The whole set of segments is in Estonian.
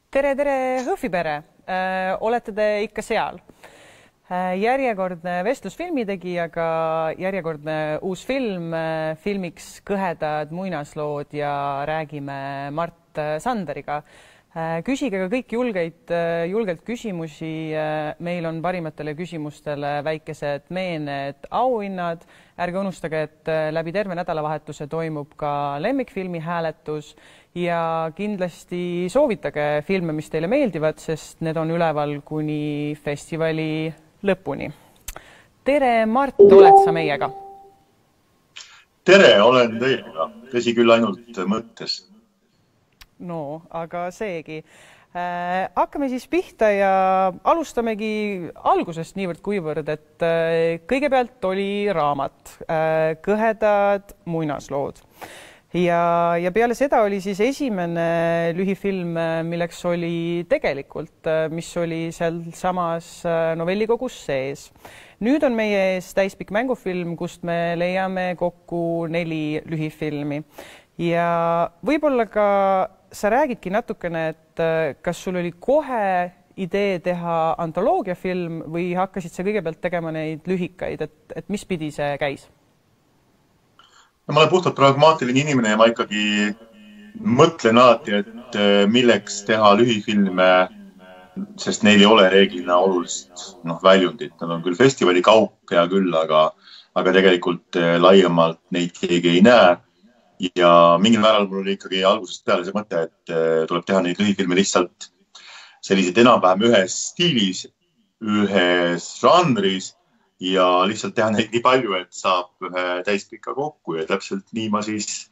Tere, Hõhvipere! Olete te ikka seal? Järjekordne vestlus filmitegijaga, järjekordne uus film, filmiks Kõhedad muinaslood ja räägime Mart Sanderiga. Küsige ka kõik julgelt küsimusi. Meil on parimatele küsimustele väikesed meened auhinnad. Ärge unustage, et läbi terve nädalavahetuse toimub ka lemmikfilmi hääletus ja kindlasti soovitage filme, mis teile meeldivad, sest need on üleval kuni festivali lõpuni. Tere, Mart, oled sa meiega? Tere, olen teiega. Tõsi küll ainult mõttes. No, aga seegi. Hakkame siis pihta ja alustamegi algusest niivõrd kuivõrd, et kõigepealt oli raamat Kõhedad muinaslood. Ja peale seda oli siis esimene lühifilm, milleks oli tegelikult, mis oli seal samas novellikogus sees. Nüüd on meie ees täispikk mängufilm, kust me leiame kokku 4 lühifilmi. Ja võib-olla ka sa räägidki natukene, et kas sul oli kohe idee teha antoloogiafilm või hakkasid sa kõigepealt tegema neid lühikaid, et mis pidi see käis? No, ma olen puhtalt pragmaatiline inimene ja ma ikkagi mõtlen alati, et milleks teha lühifilme, sest neil ei ole reeglina olulist väljundit. Nad on küll festivali kaup ja küll, aga tegelikult laiemalt neid keegi ei näe. Ja mingil määral mul oli ikkagi algusest peale see mõte, et tuleb teha neid lühifilme lihtsalt sellised enam-vähem ühes stiilis, ühes žanris ja lihtsalt teha neid nii palju, et saab ühe täispika kokku ja täpselt nii ma siis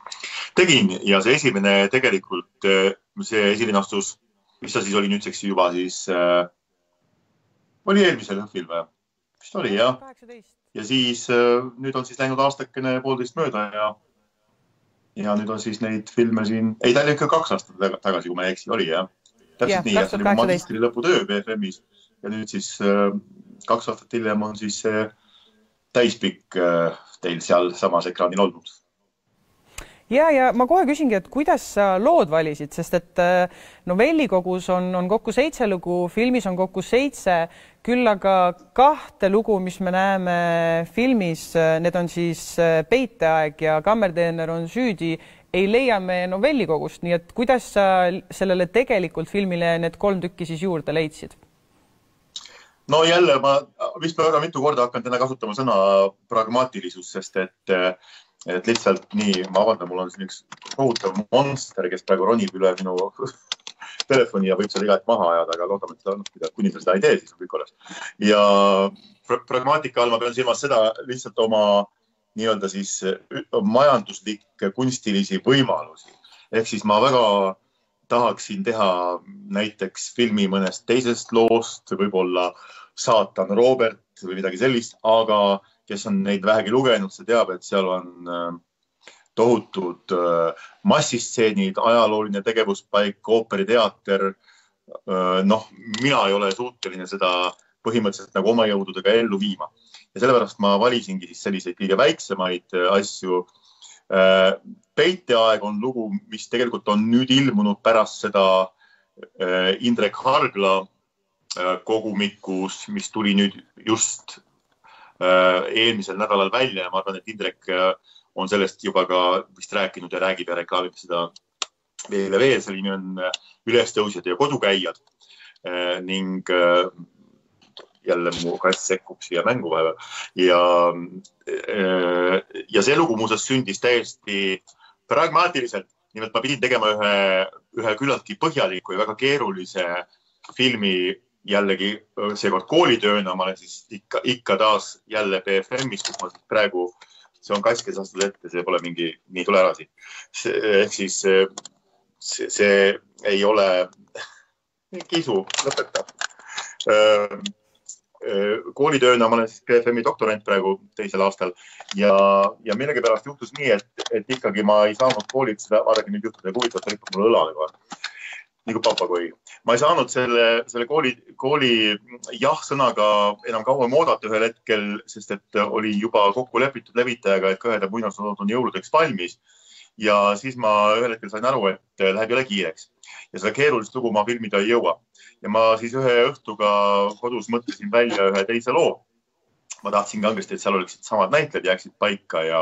tegin. Ja see esimene tegelikult, see esilinastus, mis ta siis oli nüüdseks juba siis, oli eelmisel õhvil või? Mis ta oli, jah? 18. Ja siis nüüd on siis läinud aastakene 1,5 mööda ja nüüd on siis neid filme siin, ei, ta oli ikka 2 aastat tagasi, kui ma ei eksi, oli, jah. Täpselt nii, et see oli magistri lõputöö BFM-is ja nüüd siis 2 aastat hiljem on siis täispikk teil seal samas ekraanil olnud. Ja ma kohe küsingi, et kuidas sa lood valisid, sest et novellikogus on kokku 7 lugu, filmis on kokku 7, küll aga 2 lugu, mis me näeme filmis, need on siis Peiteaeg ja Kammerdeener on süüdi, ei leia me novellikogust, nii et kuidas sa sellele tegelikult filmile need 3 tükki siis juurde leidsid? No jälle, ma vist väga mitu korda hakkan täna kasutama sõna pragmaatilisus, sest et lihtsalt nii, ma avandan, mul on siin üks kohutav monster, kes praegu ronib üle minu telefoni ja võib seal igat maha ajada, aga loodame, et kuni sa seda ei tee, siis on kõik alles. Ja pragmaatika all ma pean silmas seda lihtsalt oma nii-öelda siis majanduslikke kunstilisi võimalusi. Ehk siis ma väga tahaksin teha näiteks filmi mõnest teisest loost, võib-olla Saatan Robert või midagi sellist, aga kes on neid vähegi lugenud, see teab, et seal on tohutud massistseenid, ajalooline tegevuspaik, ooperiteater. Mina ei ole suuteline seda põhimõtteliselt nagu oma jõududega ellu viima. Ja sellepärast ma valisingi siis selliseid kõige väiksemaid asju. Peiteaeg on lugu, mis tegelikult on nüüd ilmunud pärast seda Indrek Hargla kogumikus, mis tuli nüüd just eelmisel nädalal välja ja ma arvan, et Indrek on sellest juba ka vist rääkinud ja räägib ja reklaamib seda veel. See nimi on Ülestõusjad ja kodukäijad ning jälle mu kass sekkub siia mängu vahepeal. Ja see lugu muuseas sündis täiesti pragmaatiliselt. Nimelt ma pidin tegema ühe küllaltki põhjaliku ja väga keerulise filmi jällegi seekord koolitööna. Ma olen siis ikka taas jälle BFM-is, kus ma praegu, see on kass, kes astud ette, see pole mingi, nii tule ära siin. Ehk siis see ei ole kisu, lõpeta. Koolitööna ma olen siis BFM-i doktorant praegu 2. aastal ja millegipärast juhtus nii, et ikkagi ma ei saanud koolilt seda, vaadagi nüüd juhtuda ja huvitavat ripub mul õlale kohe. Nagu papagoi. Ma ei saanud selle kooli jah-sõnaga enam kauem oodata ühel hetkel, sest et oli juba kokku lepitud levitajaga, et Kõhedad muinaslood on jõuludeks valmis. Ja siis ma ühel hetkel sain aru, et läheb jälle kiireks. ja seda keerulist lugu ma filmida ei jõua. Ja ma siis ühe õhtuga kodus mõtlesin välja ühe teise loo. Ma tahtsin kangesti, et seal oleksid samad näitlejad, jääksid paika ja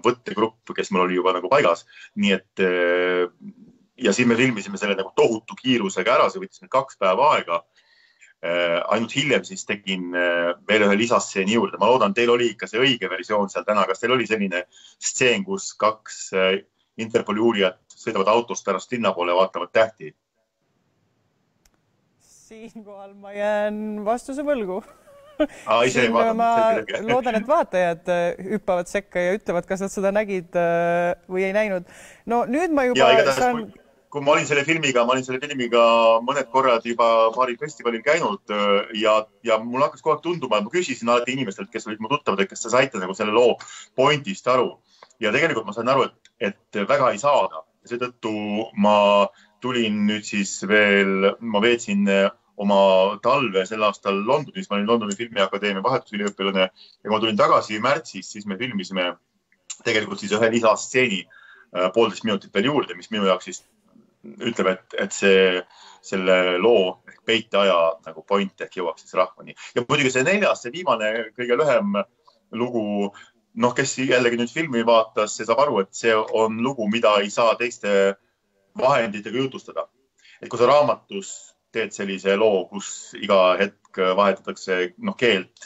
võttegrupp, kes mul oli juba nagu paigas. Nii et ja siis me filmisime selle nagu tohutu kiirusega ära, see võttis meil 2 päeva aega. Ainult hiljem siis tegin veel ühe lisastseeni juurde. Ma loodan, teil oli ikka see õige versioon seal täna. Kas teil oli selline stseen, kus 2 Interpoli uurijat sõidavad autost pärast linna poole ja vaatavad tähti? Siinkohal ma jään vastuse võlgu. Ma loodan, et vaatajad hüppavad sekka ja ütlevad, kas nad seda nägid või ei näinud. No nüüd ma juba saan... Kui ma olin selle filmiga mõned korrad juba paari festivalil käinud ja mul hakkas kogu aeg tunduma, et ma küsisin alati inimestelt, kes olid mu tuttavad, et kas te saite nagu selle loo pointist aru. Ja tegelikult ma sain aru, et väga ei saada. Seetõttu ma tulin nüüd siis veel, ma veetsin oma talve sel aastal Londonis, ma olin Londoni filmiakadeemia vahetusüliõpilane ja kui ma tulin tagasi märtsis, siis me filmisime tegelikult siis ühe lisastseeni 1,5 minutit veel juurde, mis minu jaoks siis ütleb, et selle loo ehk peiteaja nagu point ehk jõuaks siis rahvani. Ja muidugi see 4., see viimane kõige lühem lugu, kes jällegi nüüd filmi vaatas, see saab aru, et see on lugu, mida ei saa teiste vahenditega jutustada. Et kui sa raamatus teed sellise loo, kus iga hetk vahetatakse keelt,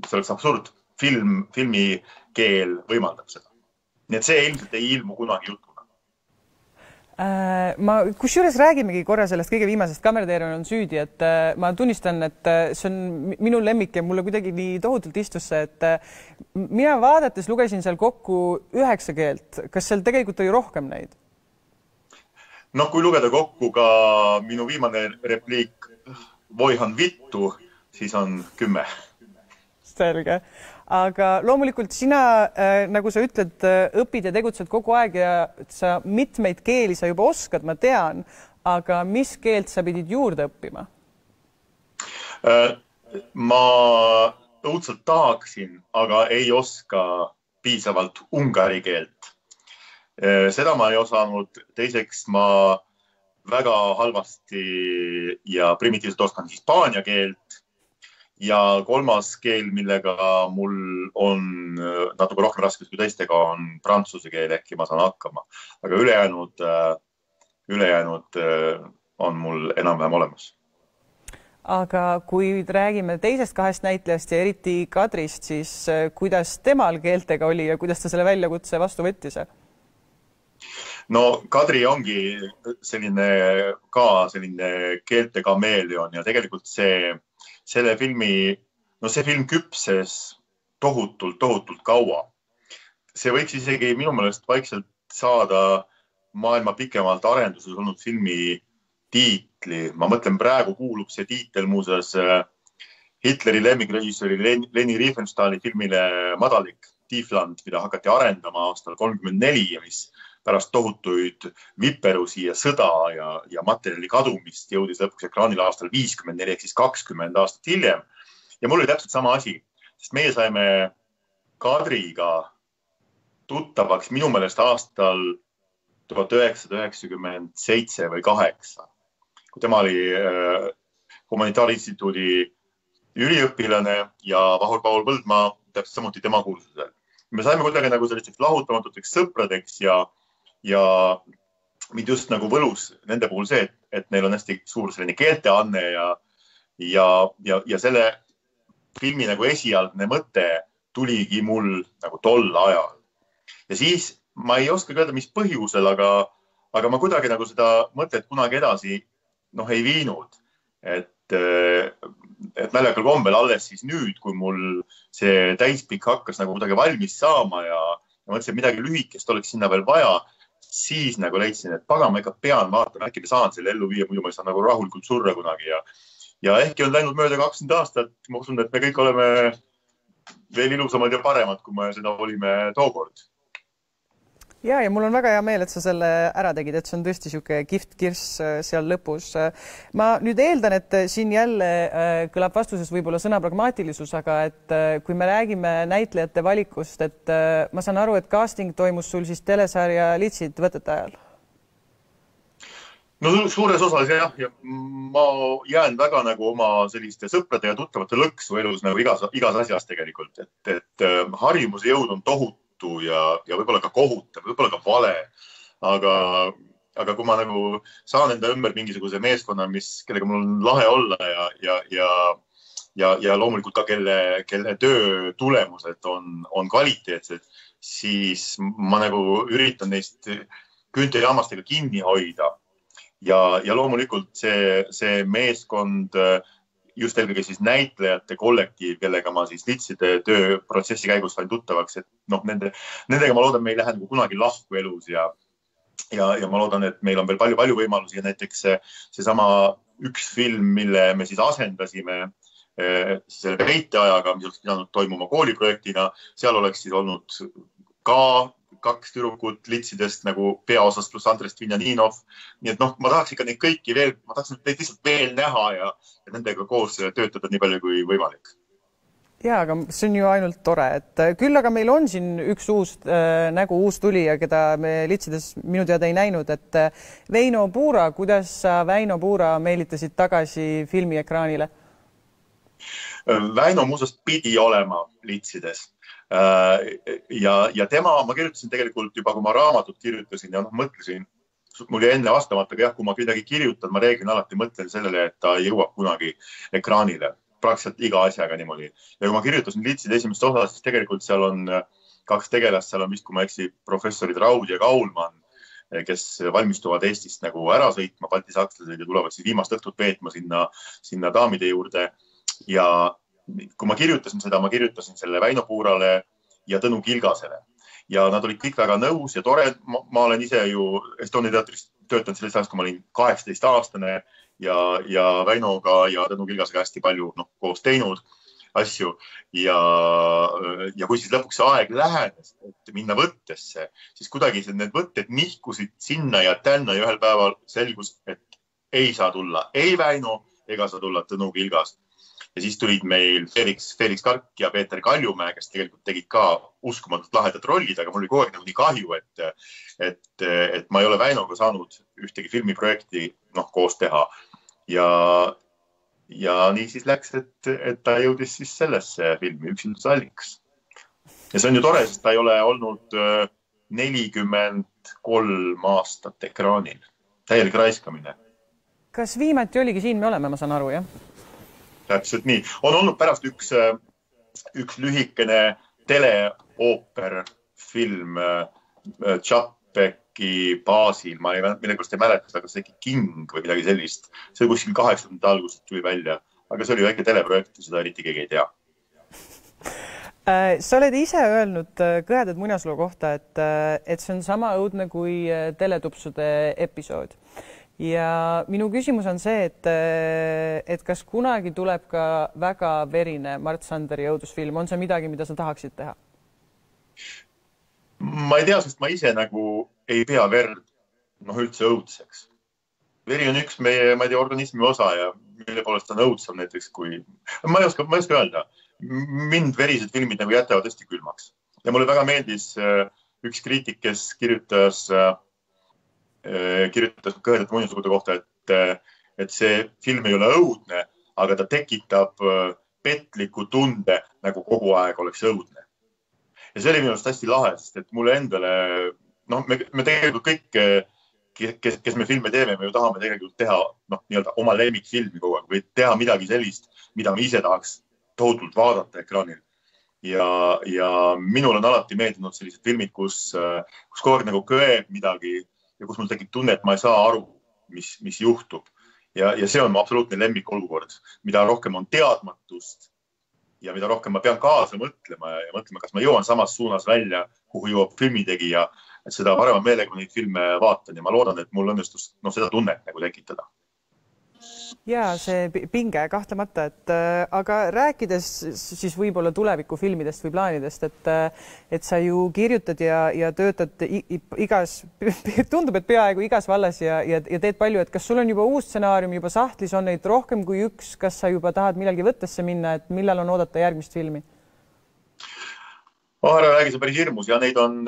see oleks absurd. Filmi keel võimaldab seda. Nii et see ilmselt ei ilmu kunagi jutuna. Ma kusjuures räägimegi korra sellest kõige viimasest Kammerteerium on süüdi, et ma tunnistan, et see on minu lemmik ja mulle kuidagi nii tohutult istus see, et mina vaadates lugesin seal kokku 9 keelt. Kas seal tegelikult oli rohkem neid? Kui lugeda kokku ka minu viimane repliik Voihan vittu, siis on 10. Selge. Aga loomulikult sina, nagu sa ütled, õpid ja tegutsed kogu aeg ja sa mitmeid keeli sa juba oskad, ma tean, aga mis keelt sa pidid juurde õppima? Ma õudselt tahaksin, aga ei oska piisavalt ungari keelt. Seda ma ei osanud. Teiseks ma väga halvasti ja primitiivselt oskan hispaania keelt. Ja 3. keel, millega mul on natuke rohkem raskus kui teistega, on prantsuse keel, ehkki ma saan hakkama. Aga ülejäänud on mul enam-vähem olemas. Aga kui räägime teisest 2 näitlejast ja eriti Kadrist, siis kuidas temal keeltega oli ja kuidas ta selle väljakutse vastu võttis? Kadri ongi selline keelte kameeleon ja tegelikult selle filmi, see film küpses tohutult kaua. See võiks isegi minu meelest vaikselt saada maailma pikemalt arenduses olnud filmi tiitli. Ma mõtlen, praegu kuulub see tiitel muuseas Hitleri lemmikrežissööri Leni Riefenstahli filmile Madalik Tiefland, mida hakati arendama aastal 1934 ja mis pärast tohutuid viperusi ja sõda ja materjali kadumist jõudis lõpuks ekraanile aastal 1954 ehk siis 20 aastat hiljem. Ja mul oli täpselt sama asi, sest meie saime Kadriga tuttavaks minu meelest aastal 1997 või 8, kui tema oli Humanitaarinstituudi üliõpilane ja Vahur Paul Põldmaa täpselt samuti tema kursusel. Me saime kuidagi nagu sellisteks lahutamatuteks sõpradeks ja mind just nagu võlus nende puhul see, et neil on hästi suur selline keelteanne ja selle filmi nagu esialgne mõte tuligi mul nagu tol ajal. Ja siis ma ei oska öelda, mis põhjusel, aga ma kuidagi nagu seda mõtet kunagi edasi ei viinud. Et naljakal kombel alles siis nüüd, kui mul see täispikk hakkas nagu kuidagi valmis saama ja mõtlesin, et midagi lühikest oleks sinna veel vaja, siis nagu leidsin, et paga, ma ikka pean vaatama, äkki me saan selle ellu viia, muidu ma ei saa nagu rahulikult surra kunagi. Ja ehkki on läinud mööda 20 aastat, ma usun, et me kõik oleme veel ilusamad ja paremad, kui me seda olime tookord. Ja mul on väga hea meel, et sa selle ära tegid, et see on tõesti siuke kihvt kirss seal lõpus. Ma nüüd eeldan, et siin jälle kõlab vastuses võib-olla sõna pragmaatilisus, aga et kui me räägime näitlejate valikust, et ma saan aru, et casting toimus sul siis telesarja Litsid võtete ajal? no suures osas jah, ja ma jään väga nagu oma selliste sõprade ja tuttavate lõksu elus nagu igas asjas tegelikult, et harjumuse jõud on tohutu ja võib-olla ka kohutav, võib-olla ka vale, aga kui ma nagu saan enda ümber mingisuguse meeskonna, kellega mul on lahe olla ja loomulikult ka kelle töö tulemused on kvaliteetsed, siis ma nagu üritan neist küüntejaamastega kinni hoida. Ja loomulikult see meeskond, just eelkõige siis näitlejate kollektiiv, kellega ma siis litside tööprotsessi käigus sain tuttavaks, et nendega ma loodan, me ei lähe nagu kunagi lahku elus ja ma loodan, et meil on veel palju võimalusi ja näiteks seesama üks film, mille me siis asendasime selle peiteajaga, mis oleks pidanud toimuma kooliprojektina, seal oleks siis olnud ka 2 tüdrukut litsidest nagu peaosas pluss Andrest Vinjaninov. Nii et ma tahaks ikka neid kõiki veel, ma tahaks neid lihtsalt veel näha ja nendega koos töötada nii palju kui võimalik. Ja, aga see on ju ainult tore, et küll aga meil on siin üks uus tulija, keda me litsides minu teada ei näinud, et Väino Puura, kuidas sa Väino Puura meelitasid tagasi filmiekraanile? Väino muuseas pidi olema litsides. Ja tema, ma kirjutasin tegelikult juba, kui ma raamatut kirjutasin ja mõtlesin, mul jäi enne vastamata, aga jah, kui ma midagi kirjutan, ma reeglina alati mõtlen sellele, et ta jõuab kunagi ekraanile. Praktiliselt iga asjaga niimoodi. Ja kui ma kirjutasin litside esimest osa, siis tegelikult seal on 2 tegelast, seal on vist, kui ma eksi, professorid Raud ja Kaulmann, kes valmistuvad Eestist nagu ära sõitma, balti sakslased ja tulevad siis viimast õhtut veetma sinna daamide juurde. Ja kui ma kirjutasin seda, ma kirjutasin selle Väino Puurale ja Tõnu Kilgasele. Ja nad olid kõik väga nõus ja tore. Ma olen ise ju Estonia teatris töötanud sellest ajast, kui ma olin 18-aastane ja Väinoga ja Tõnu Kilgasega hästi palju koos teinud asju. Ja kui siis lõpuks see aeg lähenes, et minna võttesse, siis kuidagi need võtted nihkusid sinna ja tänna ja ühel päeval selgus, et ei saa tulla ei Väino ega saa tulla Tõnu Kilgas. Ja siis tulid meil Felix Kark ja Peeter Kaljumäe, kes tegelikult tegid ka uskumatult lahedad rollid, aga mul oli kogu aeg nagu nii kahju, et ma ei ole Väinoga saanud ühtegi filmiprojekti koos teha. Ja nii siis läks, et ta jõudis siis sellesse filmi Üksilduse allikas. Ja see on ju tore, sest ta ei ole olnud 43 aastat ekraanil. Täielik raiskamine. Kas viimati oligi Siin me oleme, ma saan aru, jah? Täpselt nii. On olnud pärast üks lühikene teleooperfilm Chapeki baasil. Ma millegipärast ei mäleta, aga see King või midagi sellist. See kuskil 80. algusest tuli välja. Aga see oli väike teleprojekt ja seda eriti keegi ei tea. Sa oled ise öelnud Kõhedad muinasloo kohta, et see on sama õudne kui teletupsude episood. Ja minu küsimus on see, et kas kunagi tuleb ka väga verine Mart Sanderi õudusfilm? On see midagi, mida sa tahaksid teha? Ma ei tea, sest ma ise nagu ei pea verd üldse õudseks. Veri on üks meie, ma ei tea, organismi osa ja mille poolest on õudsam näiteks kui... Ma ei oska öelda. Mind verised filmid nagu jätavad hästi külmaks. Ja mulle väga meeldis üks kriitik, kes kirjutas Kõhedate muinaslugude kohta, et see film ei ole õudne, aga ta tekitab petliku tunde, nagu kogu aeg oleks õudne. Ja see oli minu arust hästi lahe, sest et mulle endale, me tegelikult kõik, kes me filme teeme, me ju tahame tegelikult teha oma lemmikfilmi kogu aeg või teha midagi sellist, mida me ise tahaks tohutult vaadata ekraanil. Ja minul on alati meeldinud sellised filmid, kus kogu aeg nagu köeb midagi ja kus mul tekib tunne, et ma ei saa aru, mis juhtub. Ja see on mu absoluutne lemmikolukord, mida rohkem on teadmatust ja mida rohkem ma pean kaasa mõtlema ja mõtlema, kas ma jõuan samas suunas välja, kuhu jõuab filmitegija, et seda parema meelega neid filme vaatan ja ma loodan, et mul õnnestus seda tunnet nagu tekitada. Ja see pinge kahtlemata, aga rääkides siis võib-olla tulevikufilmidest või plaanidest, et sa ju kirjutad ja töötad tundub, et peaaegu igas vallas ja teed palju, et kas sul on juba uus stsenaarium, juba sahtlis on neid rohkem kui üks, kas sa juba tahad millalgi võttesse minna, et millal on oodata järgmist filmi? Ära räägi, see on päris hirmus ja neid on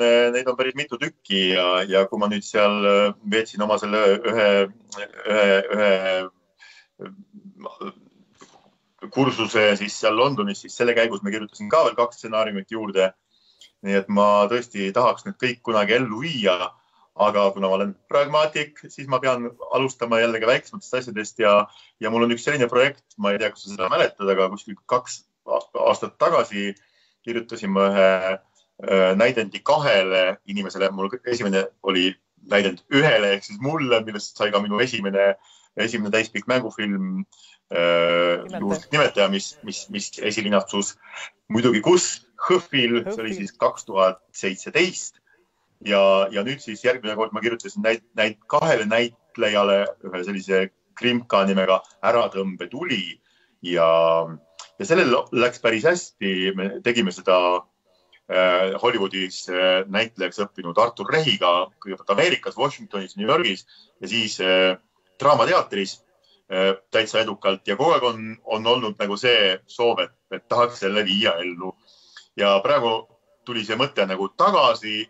päris mitu tükki ja kui ma nüüd seal veetsin oma selle ühe kursuse siis seal Londonis, siis selle käigus me kirjutasin ka veel 2 stsenaariumit juurde. Nii et ma tõesti tahaks need kõik kunagi ellu viia, aga kuna ma olen pragmaatik, siis ma pean alustama jällegi väiksematest asjadest ja mul on üks selline projekt, ma ei tea, kas sa seda mäletad, aga kuskil 2 aastat tagasi kirjutasin ma ühe näidendi 2 inimesele. Mul esimene oli näidend 1 ehk siis mulle, millest sai ka minu esimene täispikk mängufilm nimetaja, mis esilinastus muidugi kus Hõhvil, see oli siis 2017 ja nüüd siis järgmine kord ma kirjutasin 2 näitlejale ühe sellise krimka nimega Äratõmbetuli ja sellel läks päris hästi. Me tegime seda Hollywoodis näitlejaks õppinud Artur Rehiga, kõigepealt Ameerikas, Washingtonis, New Yorgis ja siis Draamateatris täitsa edukalt ja kogu aeg on olnud nagu see soov, et tahaks selle viia ellu. Ja praegu tuli see mõte nagu tagasi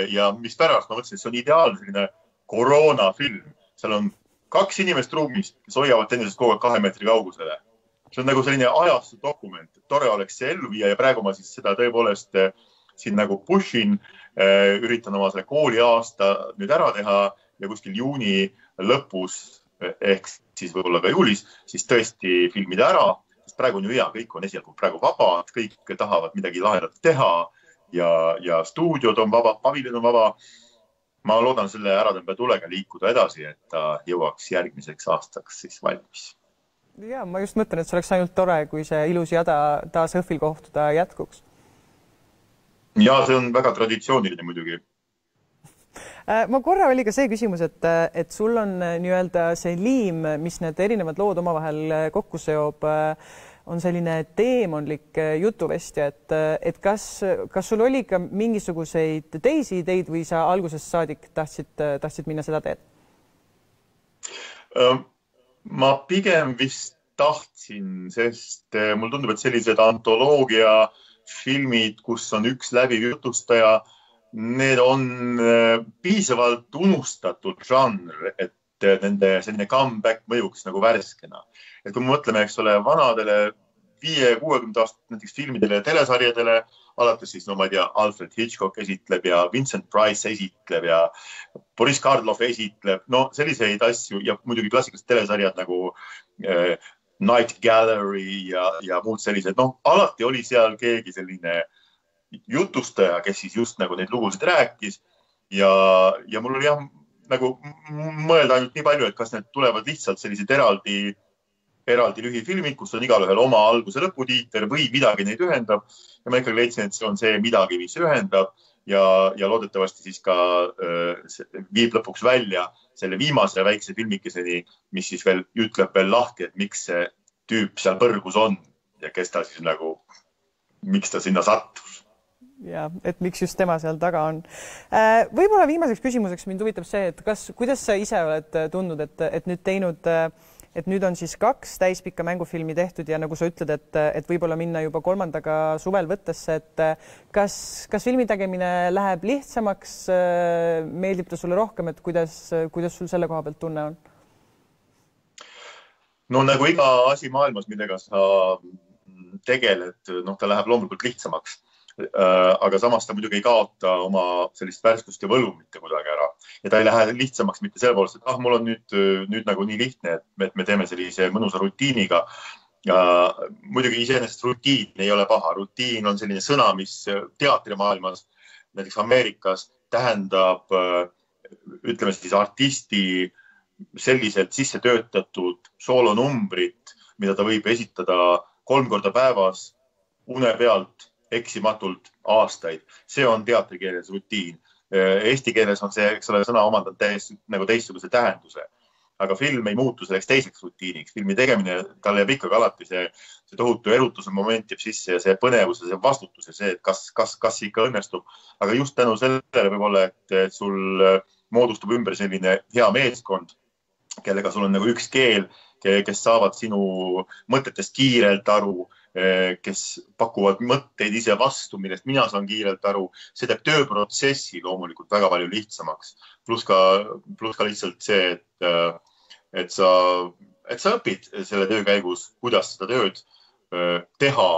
ja mis pärast ma mõtlesin, et see on ideaalne selline koroonafilm. Seal on 2 inimest ruumis, kes hoiavad teineteisest kogu aeg 2 meetri kaugusele. See on nagu selline ajastu dokument, et tore oleks see ellu viia ja praegu ma siis seda tõepoolest siin nagu pushin, üritan oma selle kooliaasta nüüd ära teha ja kuskil juuni lõpus ehk siis võib-olla ka juulis, siis tõesti filmida ära, sest praegu on ju hea, kõik on esialgu praegu vaba, kõik tahavad midagi lahedat teha ja stuudiod on vaba, paviljon on vaba. Ma loodan selle Äratõmbetulega liikuda edasi, et ta jõuaks järgmiseks aastaks siis valmis. Ja ma just mõtlen, et see oleks ainult tore, kui see ilus jada taas Hõhvil kohtuda jätkuks. Ja see on väga traditsiooniline muidugi. Ma korra oli ka see küsimus, et sul on nii-öelda see liim, mis need erinevad lood omavahel kokku seob, on selline teemonlik jutuvestja, et kas sul oli ka mingisuguseid teisi ideid või sa algusest saadik tahtsid minna seda teed? Ma pigem vist tahtsin, sest mul tundub, et sellised antoloogia filmid, kus on üks läbiv jutustaja, need on piisavalt unustatud žanr, et nende selline comeback mõjuks nagu värskena. Et kui me mõtleme, eks ole, vanadele 50-60 aastat näiteks filmidele ja telesarjadele, alates siis, no ma ei tea, Alfred Hitchcock esitleb ja Vincent Price esitleb ja Boris Karloff esitleb, no selliseid asju ja muidugi klassikalised telesarjad nagu Night Gallery ja muud sellised, no alati oli seal keegi selline jutustaja, kes siis just nagu neid lugusid rääkis ja mul oli jah nagu mõelda ainult nii palju, et kas need tulevad lihtsalt sellised eraldi lühifilmid, kus on igalühel oma alguse lõputiiter või midagi neid ühendab ja ma ikkagi leidsin, et see on see midagi, mis ühendab ja loodetavasti siis ka viib lõpuks välja selle viimase väikse filmikeseni, mis siis veel ütleb veel lahti, et miks see tüüp seal põrgus on ja kes ta siis nagu, miks ta sinna sattus. Ja, et miks just tema seal taga on. Võib-olla viimaseks küsimuseks mind huvitab see, et kuidas sa ise oled tundnud, et nüüd teinud, et nüüd on siis 2 täispikka mängufilmi tehtud ja nagu sa ütled, et võib-olla minna juba 3. suvel võttesse, et kas filmi tegemine läheb lihtsamaks, meeldib ta sulle rohkem, et kuidas sul selle koha pealt tunne on? No nagu iga asi maailmas, millega sa tegeled, ta läheb loomulikult lihtsamaks. Aga samas ta muidugi ei kaota oma sellist värskust ja võlu mitte kuidagi ära. Ja ta ei lähe lihtsamaks mitte selle poolest, et mul on nüüd nagu nii lihtne, et me teeme sellise mõnusa rutiiniga. Muidugi iseenesest rutiin ei ole paha. Rutiin on selline sõna, mis teatrimaailmas, näiteks Ameerikas, tähendab, ütleme siis artisti selliselt sisse töötatud soolonumbrit, mida ta võib esitada 3 korda päevas une pealt eksimatult aastaid. See on teatrikeeles rutiin. Eesti keeles on see, eks ole, sõna omandanud nagu teistsuguse tähenduse. Aga film ei muutu selleks teiseks rutiiniks. Filmi tegemine, tal jääb ikkagi alati see tohutu erutuse moment jääb sisse ja see põnevus ja see vastutus ja see, et kas ikka õnnestub. Aga just tänu sellele võib-olla, et sul moodustub ümber selline hea meeskond, kellega sul on nagu üks keel, kes saavad sinu mõtetest kiirelt aru, kes pakuvad mõtteid ise vastu, millest mina saan kiirelt aru. See teeb tööprotsessi loomulikult väga palju lihtsamaks. Plus ka lihtsalt see, et sa õpid selle töö käigus, kuidas seda tööd teha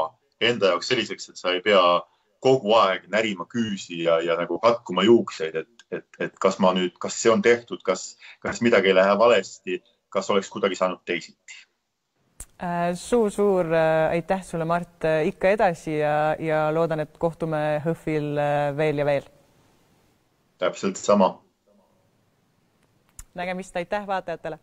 enda jaoks selliseks, et sa ei pea kogu aeg närima küüsi ja nagu katkuma juukseid, et kas see on tehtud, kas midagi ei lähe valesti, kas oleks kuidagi saanud teisiti. Suur aitäh sulle, Mart, ikka edasi ja loodan, et kohtume HÖFFil veel ja veel. Täpselt sama. Nägemist, aitäh vaatajatele.